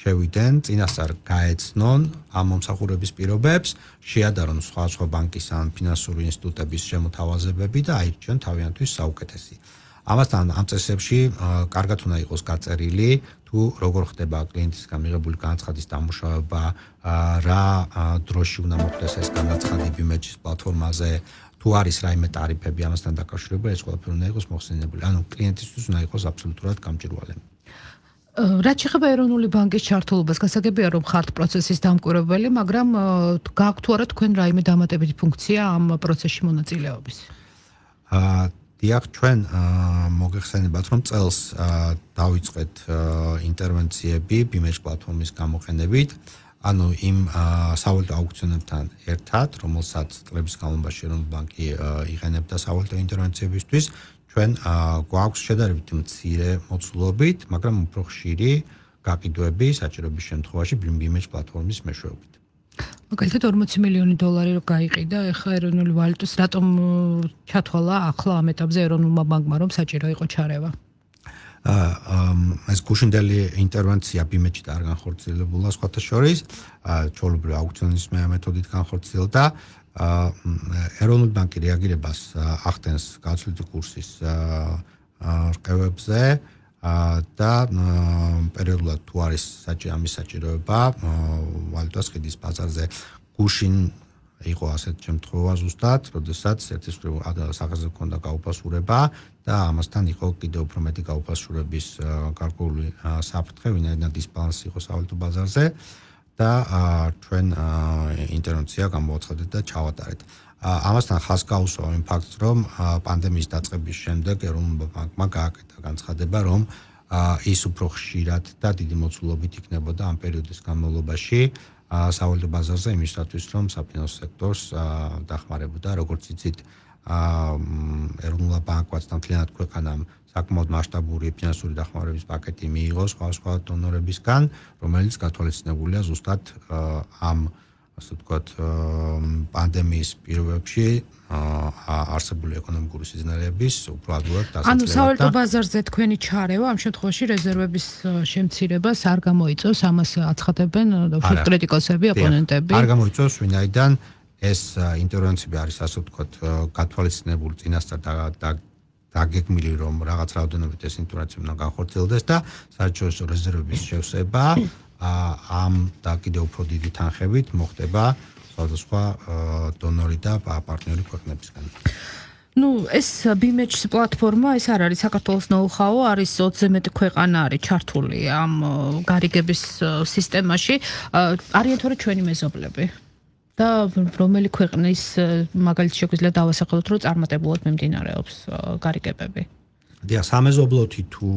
შევიდნენ წინასწარ გაეცნონ ამ მომსახურების პირობებს, შეადარონ სხვადასხვა ბანკის ან ფინანსური ინსტიტუტების შემოთავაზებები და აირჩიონ თავიანთვის საუკეთესი. ამასთან ამ წესებში კარგად უნდა იყოს გაწერილი თუ როგორ ხდება კლიენტისგან მიღებული განაცხადის დამუშავება, რა დროში უნდა მოხდეს ეს განაცხადი ბიმეჯის პლატფორმაზე, თუ არის რაიმე ტარიფები ამასთან დაკავშირებული, ეს ყველაფერი უნდა იყოს მოხსენიებული. ანუ კლიენტისთვის უნდა იყოს აბსოლუტურად გამჭვირვალე. რაც შეეხება ეროვნული ბანკის ჩართულობას, გასაგებია რომ ხართ პროცესის დამკვირვებელი, მაგრამ გაქვთ თუ არა თქვენ რაიმე დამატებითი ფუნქცია ამ პროცესში მონაწილეობის? აა დიახ, ჩვენ მოგეხსენებათ, რომ წელს დავიწყეთ ინტერვენციები ბიმეჯ პლატფორმის გამოყენებით, ანუ იმ სავალუტო აუქციონებთან ერთად, რომელსაც წლების განმავლობაში ეროვნული ბანკი იყენებდა სავალუტო ინტერვენციებისთვის, ჩვენ გვაქვს შედარებით მცირე მოცულობით, მაგრამ უფრო ხშირი გაყიდვები საჭიროების შემთხვევაში ბიმეჯ პლატფორმის მეშვეობით. მაგალითად ორმოცი მილიონი დოლარი რო გაიყიდა, ეხლა ეროვნული ვალუტის რატომ ჩათვალა ახლა ამ ეტაპზე ეროვნულმა ბანკმა რომ საჭირო იყო ჩარევა? ეს გუშინდელი ინტერვენცია ბიმეჩით არ განხორციელებულა სხვათა შორის, ჩვეულებრივ აუქციონის მეთოდით განხორციელდა. ეროვნული ბანკი რეაგირებას ახდენს გაცვლითი კურსის რყევებზე და პერიოდულად თუ არის ამის საჭიროება ვალუტას ხიდის ბაზარზე გუშინ იყო ასეთ შემთხვევა ზუსტად, როდესაც ერთის მხრივ სახეზე ჰქონდა გაუფასურება და ამასთან იყო კიდევ უფრო მეტი გაუფასურების გარკვეული საფრთხე, ვინაიდან დისბალანსი იყო სავალუტო ბაზარზე და ჩვენ ინტერვენცია გამოაცხადეთ და ჩავატარეთ. ამასთან ხაზს გაუსვა იმ ფაქტს, რომ პანდემიის დაწყების შემდეგ ეროვნულ ბანკმა გააკეთა განცხადება, რომ ის უფრო ხშირად და დიდი მოცულობით იქნებოდა ამ პერიოდის განმავლობაში სავალუტო ბაზარზე იმისათვის, რომ საფინანსო სექტორს დახმარებოდა, როგორც იცით, ეროვნულ ბანკმაც და მთლიანად ქვეყანამ საკმაოდ მასშტაბური ფინანსური დახმარების პაკეტი მიიღო სხვა-სხვა დონორებისგან, რომელიც გათვალისწინებულია ზუსტად ამ ასე ვთქვათ, პანდემიის პირობებში არსებული ეკონომიკური სიზნელეების უფრო ადვილად დასაწყებად. ანუ სავალუტო ბაზარზე თქვენი ჩარევა ამ შემთხვევაში რეზერვების შემცირებას არ გამოიწვევს, ამას აცხადებენ უშუალოდ კრიტიკოსები, ოპონენტები. არ გამოიწვევს, ვინაიდან ეს ინტერვენციები არის ასე ვთქვათ, გათვალისწინებული წინასწარ და დაგეგმილი, რომ რაღაც რაოდენობით ეს ინტერვენცია უნდა განხორციელდეს და საერთაშორისო რეზერვების შევსება ამ და კიდევ უფრო დიდი თანხებით მოხდება სხვადასხვა დონორი და პარტნიორი ქვეყნებისგან. Ну, ეს ბიმეჩის პლატფორმა, ეს არ არის საქართველოს ნოუ-ჰაუ, არის ოცზე მეტი ქვეყანა არის ჩართული ამ გარიგების სისტემაში. არიან თორე ჩვენი მეზობლები. და რომელი ქვეყნის მაგალითად შეგვიძლია დავასახელოთ, რომ წარმატებულად მიმდინარეობს გარიგებები. დიახ, სამეზობლოთი თუ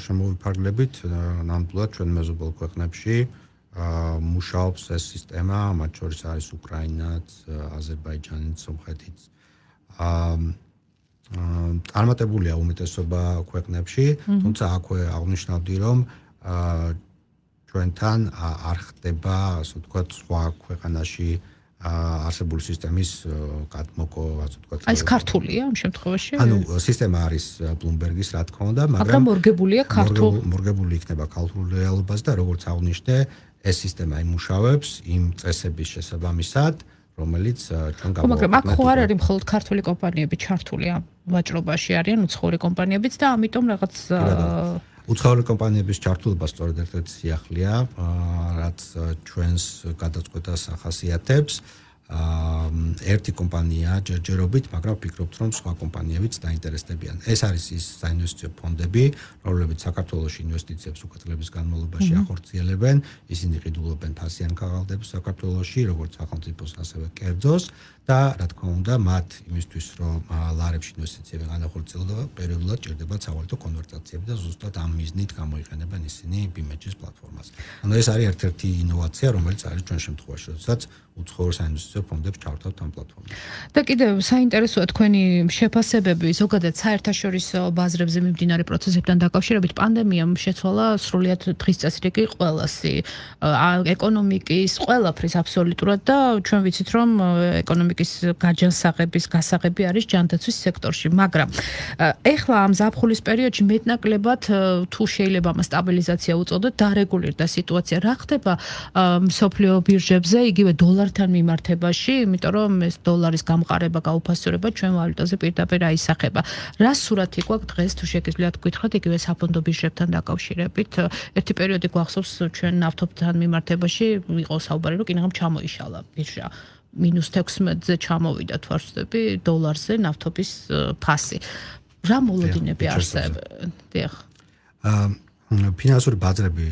შემოვიფარგლებით, ნამდვილად ჩვენ მეზობელ ქვეყნებში მუშაობს ეს სისტემა, მათ შორის არის უკრაინაც, აზერბაიჯანიც, სომხეთიც. წარმატებულია უმეტესობა ქვეყნებში, თუმცა აქვე აღნიშნავდი, რომ ჩვენთან არ ხდება, ასე ვთქვათ, სხვა ქვეყანაში არსებული სისტემის გადმოკო, ასე ვთქვათ. აი ეს ქართულია ამ შემთხვევაში? ანუ სისტემა არის Bloomberg-ის, რა თქმა უნდა, მაგრამ მორგებულია ქართულ მორგებული იქნება ქართულ რეალობას და როგორც აღნიშნე, ეს სისტემა იმუშავებს იმ წესების შესაბამისად, რომელიც ჩვენ გამოვაყენეთ. მაგრამ აქ ხო არ არის მხოლოდ ქართული კომპანიები ჩართული ამ ვაჭრობაში, არიან უცხოური კომპანიებიც და ამიტომ რაღაც უცხოური კომპანიების ჩართულობა სწორედ ერთ-ერთი სიახლეა, რაც ჩვენს გადაწყვეტას ახასიათებს. ერთი კომპანია ჯერჯერობით, მაგრამ ვფიქრობთ, რომ სხვა კომპანიებიც დაინტერესდებიან. ეს არის ის საინვესტიციო ფონდები, რომლებიც საქართველოში ინვესტიციებს უკეთლების განმავლობაში ახორციელებენ. ისინი ყიდულობენ ფასიან ქაღალდებს საქართველოში, როგორც სახელმწიფოს, ასევე კერძოს და რა თქმა უნდა, მათ იმისთვის, რომ ლარებში ინვესტიციები განახორციელონ, პერიოდულად ჭირდებათ სავალუტო კონვერტაციები და ზუსტად ამ მიზნით გამოიყენებენ ისინი ბიმეჩის პლატფორმას. ანუ ეს არის ერთ-ერთი ინოვაცია, რომელიც არის ჩვენ შემთხვევაში, როდესაც უცხოურ საინვესტიციო ფონდებს ჩავთავთ ამ პლატფორმაზე. და კიდევ საინტერესოა თქვენი შეფასებები ზოგადად საერთაშორისო ბაზრებზე მიმდინარე პროცესებთან დაკავშირებით. პანდემიამ შეცვალა სრულიად დღის წესრიგი ყველასი, ეკონომიკის ყველაფრის აბსოლუტურად და ჩვენ ვიცით, რომ ეკონომიკის გაჯანსაღების გასაღები არის ჯანდაცვის სექტორში, მაგრამ ეხლა ამ ზაფხულის პერიოდში მეტნაკლებად თუ შეიძლება ამ სტაბილიზაცია უწოდოთ, დარეგულირდა სიტუაცია. რა ხდება მსოფლიო ბირჟებზე, იგივე დოლართან მიმართებაში, იმიტომ რომ ეს დოლარის გამყარება, გაუფასურება ჩვენ ვალუტაზე პირდაპირ აისახება. რა სურათი გვაქვს დღეს თუ შეგიძლიათ გითხრათ იგივე საფონდო ბირჟებთან დაკავშირებით? ერთი პერიოდი გვახსოვს ჩვენ ნავთობთან მიმართებაში იყო საუბარი, რომ კინაღამ ჩამოიშალა ბირჟა. მინუს თექვსმეტზე ჩამოვიდა თუ არ ვცდები დოლარზე ნავთობის ფასი. რა მოლოდინები არსებობენ? დიახ. ფინანსური ბაზრები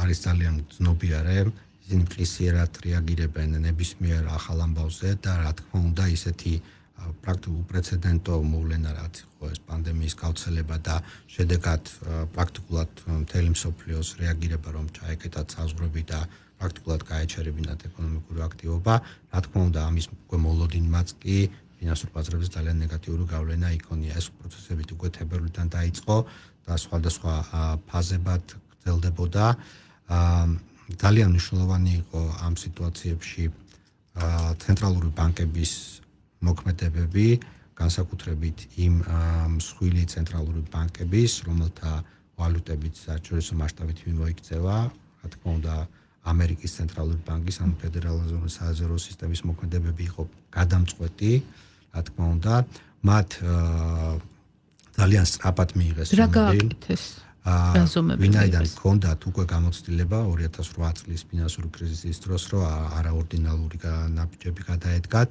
არის ძალიან ცნობიარე. ისინი კრიზისიერად რეაგირებენ ნებისმიერ ახალ ამბავზე და რა თქმა უნდა ისეთი პრაქტიკულ პრეცედენტო მოვლენა რაც იყო ეს პანდემიის გავრცელება და შედეგად პრაქტიკულად მთელი მსოფლიოს რეაგირება რომ ჩაეკეტათ საზღვრები და პრაქტიკულად გაეჩერებინათ ეკონომიკური აქტივობა, რა თქმა უნდა ამის მოლოდინმაც კი ფინანსურ ბაზრებზე ძალიან ნეგატიური გავლენა იქონია. ეს პროცესები უკვე თებერვლიდან დაიწყო და სხვადასხვა ფაზებად გრძელდებოდა. ძალიან მნიშვნელოვანი იყო ამ სიტუაციებში ცენტრალური ბანკების მოქმედებები, განსაკუთრებით იმ მსხვილი ცენტრალური ბანკების, რომელთა ვალუტებით საერთაშორისო მასშტაბით მიმოიქცევა, რა თქმა უნდა, ამერიკის ცენტრალური ბანკის ან ფედერალური საზღვაო სისტემის მოქმედებები იყო გადამწყვეტი, რა თქმა უნდა, მათ ძალიან სწრაფად მიიღეს რა გააკეთეს? ვინაიდან ჰქონდათ უკვე გამოცდილება ორი ათას ოთხ წლის ფინანსური კრიზისის დროს, რომ არაორდინალური ნაბიჯები გადაედგათ.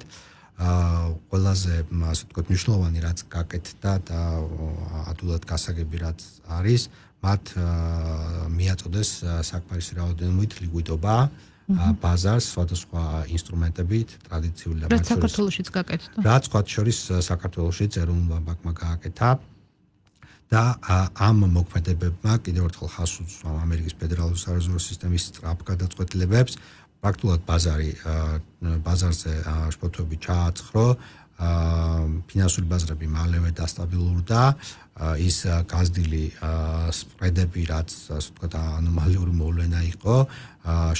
ყველაზე ასე ვთქვათ მნიშვნელოვანი რაც გაკეთდა და ადვილად გასაგები რაც არის, მათ მიაწოდეს საკმარისი რაოდენობით ლიკვიდობა ბაზარს სხვადასხვა ინსტრუმენტებით, ტრადიციული და რაც საქართველოშიც გაკეთდა. რაც სხვა შორის საქართველოშიც ეროვნულ ბანკმა გააკეთა. და ამ მოქმედებებმა კიდევ ერთხელ ხაზს უსვა ამერიკის ფედერალური სარეზერვო სისტემის სწრაფ გადაწყვეტილებებს, პრაქტიკულად ბაზარი ბაზარზე შფოთვები ჩააცხრო, ფინანსური ბაზრები მალევე დასტაბილურდა, ის გაზრდილი სპრედები, რაც ასე ვთქვათ ანომალიური მოვლენა იყო,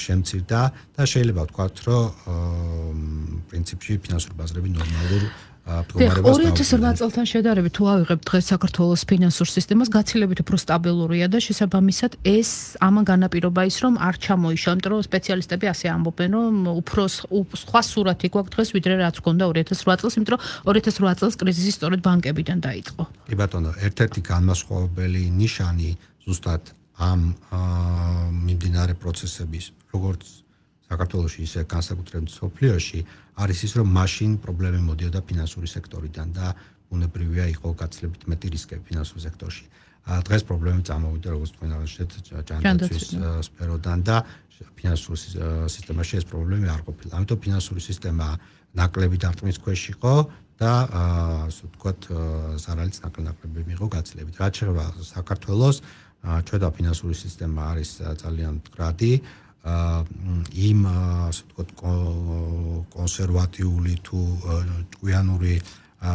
შემცირდა და შეიძლება ვთქვათ, რომ პრინციპში ფინანსური ბაზრები ნორმალურ ორი ათას ოთხ წელთან შედარებით თუ ავიღებთ დღეს საქართველოს ფინანსურ სისტემას, გაცილებით უფრო სტაბილურია და შესაბამისად ეს ამან განაპირობა ის, რომ არ ჩამოიშვა, იმიტომ რომ სპეციალისტები ასე ამბობენ, რომ უფრო სხვა სურათი გვაქვს დღეს, ვიდრე რაც ჰქონდა ორი ათას რვა წელს, იმიტომ რომ ორი ათას რვა წელს კრიზისი სწორედ ბანკებიდან დაიწყო. კი ბატონო, ერთ-ერთი განმასხვავებელი ნიშანი ზუსტად ამ მიმდინარე პროცესების, როგორც საქართველოში ისე განსაკუთრებით სოფლიოში არის ის, რომ მაშინ პრობლემები მოდიოდა ფინანსური სექტორიდან და უნებრივია იყო გაცილებით მეტი რისკები ფინანსურ სექტორში. დღეს პრობლემები წამოვიდა როგორც თქვენ აღნიშნეთ ჯანდაცვის სფეროდან და ფინანსურ სისტემაში ეს პრობლემები არ ყოფილა. ამიტომ ფინანსური სისტემა ნაკლები დარტყმის ქვეშ იყო და ასე ვთქვათ ზარალიც ნაკლები მიიღო გაცილებით. რაც შეეხება საქართველოს, ჩვენი ფინანსური სისტემა არის ძალიან მდგრადი. იმ ასე ვთქვათ კონსერვატიული თუ ჭკვიანური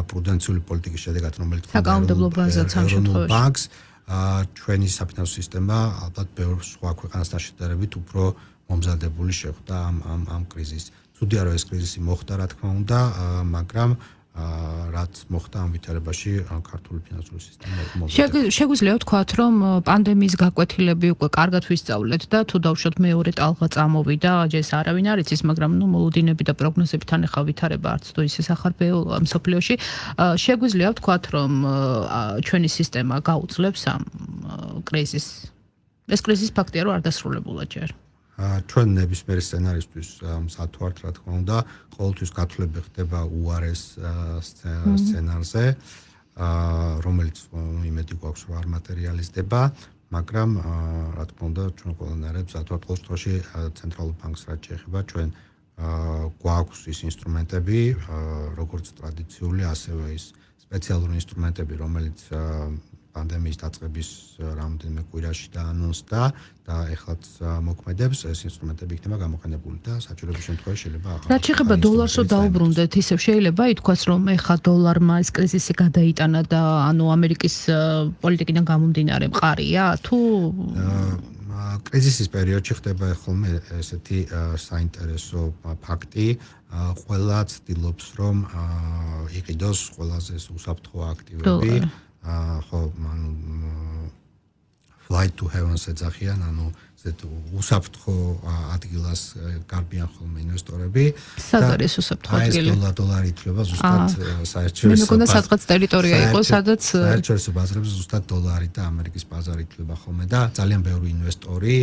პრუდენციული პოლიტიკის შედეგად, რომელიც საკანონმდებლო ბაზაც ამ შემთხვევაში ბანკს, ჩვენი საფინანსო სისტემა ალბათ ბევრ სხვა ქვეყანასთან შედარებით უფრო მომზადებული შეხვდა ამ ამ ამ კრიზისს. ცუდია რომ ეს კრიზისი მოხდა, რა თქმა უნდა, მაგრამ რაც მოხდა ამ ვითარებაში ქართული ფინანსური სისტემა მომზადდა. შეგვიძლია ვთქვათ, რომ პანდემიის გაკვეთილები უკვე კარგად ვისწავლეთ და თუ დავუშვათ მეორე ტალღა წამოვიდა, ეს არავინ არ იცის, მაგრამ ნუ მოლოდინები და პროგნოზები თან ახლა ვითარება არც თუ ისე სახარბეულოა მსოფლიოში. შეგვიძლია ვთქვათ, რომ ჩვენი სისტემა გაუძლებს ამ კრიზისს. ეს კრიზისი ფაქტია, რომ არ დასრულებულა ჯერ. ჩვენ ნებისმიერ სცენარისთვის მზად ვართ, რა თქმა უნდა, ყოველთვის გათვლები ხდება უარეს სცენარზე, რომელიც იმედი გვაქვს, რომ არ მატერიალიზდება, მაგრამ რა თქმა უნდა, ჩვენ ყველანაირად მზად ვართ ყოველ შემთხვევაში ცენტრალურ ბანკს რაც შეეხება, ჩვენ გვაქვს ის ინსტრუმენტები, როგორც ტრადიციული, ასევე ის სპეციალური ინსტრუმენტები, რომელიც პანდემიის დაწყების რამდენიმე კვირაში დაანონსდა და ეხლაც მოქმედებს, ეს ინსტრუმენტები იქნება გამოყენებული და საჭიროების შემთხვევაში შეიძლება ახლა. რაც შეეხება დოლარს რო დაუბრუნდეთ, ისევ შეიძლება ითქვას, რომ ეხლა დოლარმა ეს კრიზისი გადაიტანა და ანუ ამერიკის პოლიტიკიდან გამომდინარე მყარია თუ კრიზისის პერიოდში ხდება ხოლმე ესეთი საინტერესო ფაქტი, ყველა ცდილობს რომ იყიდოს ყველაზე უსაფრთხო აქტივები. ხო, ანუ flight to heaven-ს ეძახიან, ანუ ესეთ უსაფრთხო ადგილას გარბიან ხოლმე ინვესტორები. სად არის უსაფრთხო ადგილი? ეს დოლარი ითვლება ზუსტად საერთაშორისო. მე მგონია სადღაც ტერიტორია იყო, სადაც საერთაშორისო ბაზრებზე ზუსტად დოლარი და ამერიკის ბაზარი ითვლება ხოლმე და ძალიან ბევრი ინვესტორი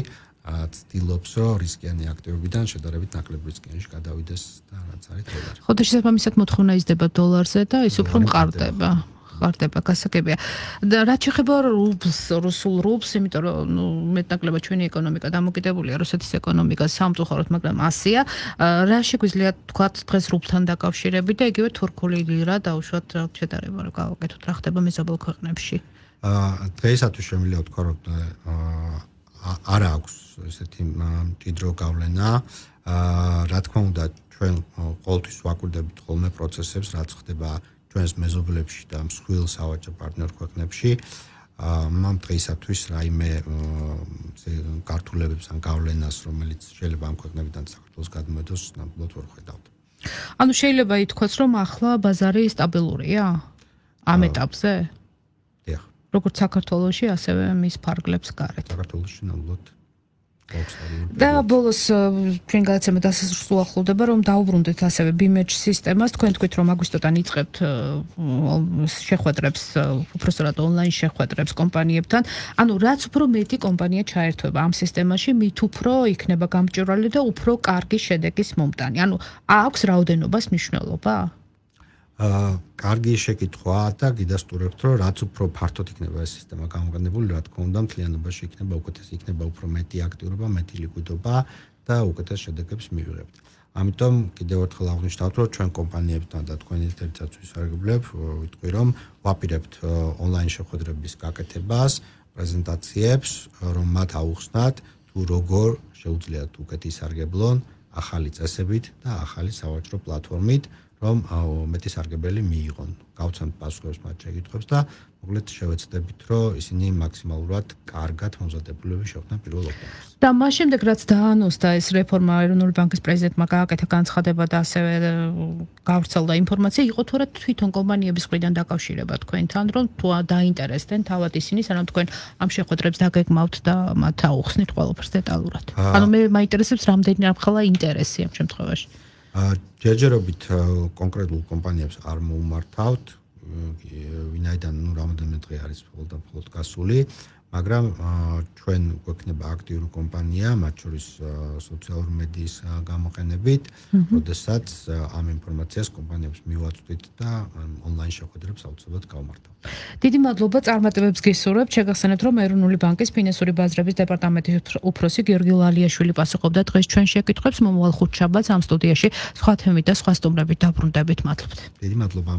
ცდილობს, რომ რისკიანი აქტივებიდან შედარებით ნაკლებ რისკიანში გადავიდეს და რაც არის დოლარი. ხო, და შესაბამისად მოთხოვნა იზრდება დოლარზე და ის უფრო მყარდება. ხარდება გასაგებია. და რაც შეეხება რუბლს, რუსულ რუბლს, იმიტომ რომ ნუ მეტნაკლებად ჩვენი ეკონომიკა დამოკიდებულია რუსეთის ეკონომიკას სამწუხაროდ, მაგრამ ასია. რა შეგვიძლია თქვათ დღეს რუბლთან დაკავშირებით და იგივე თურქული ლირა დაუშვათ რა შედარება რა გავაკეთოთ, რა ხდება მეზობელ ქვეყნებში? აა დღეისათვის შემიძლია ვთქვა, რომ არ აქვს ესეთი მჭიდრო გავლენა. აა რა თქმა უნდა, ჩვენ ყოველთვის ვაკვირდებით ხოლმე პროცესებს, რაც ხდება ჩვენს მეზობლებში და მსხვილ სავაჭრო პარტნიორ ქვეყნებში. ამ დღეისათვის რაიმე გართულებებს ან გავლენას, რომელიც შეიძლება ამ ქვეყნებიდან საქართველოს გადმოედოს, ნამდვილად ვერ ხედავთ. ანუ შეიძლება ითქვას, რომ ახლა ბაზარი სტაბილურია ამ ეტაპზე? დიახ. როგორც საქართველოში, ასევე მის ფარგლებს გარეთ. საქართველოში ნამდვილად და ბოლოს ჩვენ გადაცემა დასასრულს უახლოვდება, რომ დაუბრუნდეთ ასევე ბიმეჯ სისტემას. თქვენ თქვით, რომ აგვისტოდან იწყებთ შეხვედრებს, უпростоრად ონლაინ შეხვედრებს კომპანიებთან. ანუ რაც უფრო მეტი კომპანია ჩაერთვება ამ სისტემაში, მით უფრო იქნება გამჭვირვალე და უფრო კარგი შედეგის მომტანი. ანუ აქვს რაოდენობას მნიშვნელობა? აა კარგი შეკითხვაა და გიდასტურებთ, რომ რაც უფრო ფართოდ იქნება ეს სისტემა გამოყენებული, რა თქმა უნდა, მთლიანობაში იქნება უკეთესი, იქნება უფრო მეტი აქტიურობა, მეტი ლიკვიდობა და უკეთეს შედეგებს მივიღებთ. ამიტომ კიდევ ერთხელ აღნიშნავთ, რომ ჩვენ კომპანიებთან და თქვენი ერთ-ერთ ვისარგებლებ, ვიტყვი, რომ ვაპირებთ ონლაინ შეხვედრების გაკეთებას, პრეზენტაციებს, რომ მათ აუხსნათ თუ როგორ შეუძლიათ უკეთ ისარგებლონ ახალი წესებით და ახალი სავაჭრო პლატფორმით, რომ მეტი სარგებელი მიიღონ. გავცემთ პასუხებს მათ შეკითხვებს და მოკლედ შევეცდებით, რომ ისინი მაქსიმალურად კარგად მომზადებულები შეხვდნენ პირველ ოქტომბერს. და მას შემდეგ რაც დაანონსდა ეს რეფორმა ეროვნული ბანკის პრეზიდენტმა გააკეთა განცხადება და ასევე გავრცელდა ინფორმაცია, იყო თუ არა თვითონ კომპანიების მხრიდან დაკავშირება თქვენთან, რომ თუ დაინტერესდნენ თავად ისინი, სანამ თქვენ ამ შეხვედრებს დაგეგმავთ და მათ აუხსნით ყველაფერს დეტალურად. ანუ მე მაინტერესებს რამდენი რამხელა ინტერესი ამ შემთხვევაში. ჯერჯერობით კონკრეტულ კომპანიებს არ მოუმართავთ, ვინაიდან ნუ რამოდენიმე დღე არის მხოლოდ და მხოლოდ გასული, მაგრამ ჩვენ გვექნება აქტიური კომპანია, მათ შორის სოციალური მედიის გამოყენებით, როდესაც ამ ინფორმაციას კომპანიებს მივაწვდით და ონლაინ შეხვედრებს აუცილებლად გავმართავთ. დიდი მადლობა, წარმატებებს გისურვებთ. შეგახსენებთ, რომ ეროვნული ბანკის ფინანსური ბაზრების დეპარტამენტის უფროსი გიორგი ლალიაშვილი პასუხობდა დღეს ჩვენ შეკითხვებს. მომავალ ხუთშაბათს ამ სტუდიაში სხვა თემით და სხვა სტუმრებით დაბრუნდებით. მადლობთ. დიდი მადლობა.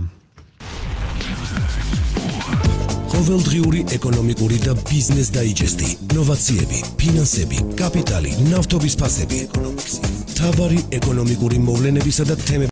ყოველდღიური ეკონომიკური და ბიზნეს დაიჯესტი, ნოვაციები, ფინანსები, კაპიტალი, ნავთობის ფასები, ეკონომიკსი, მთავარი ეკონომიკური მოვლენებისა და თემების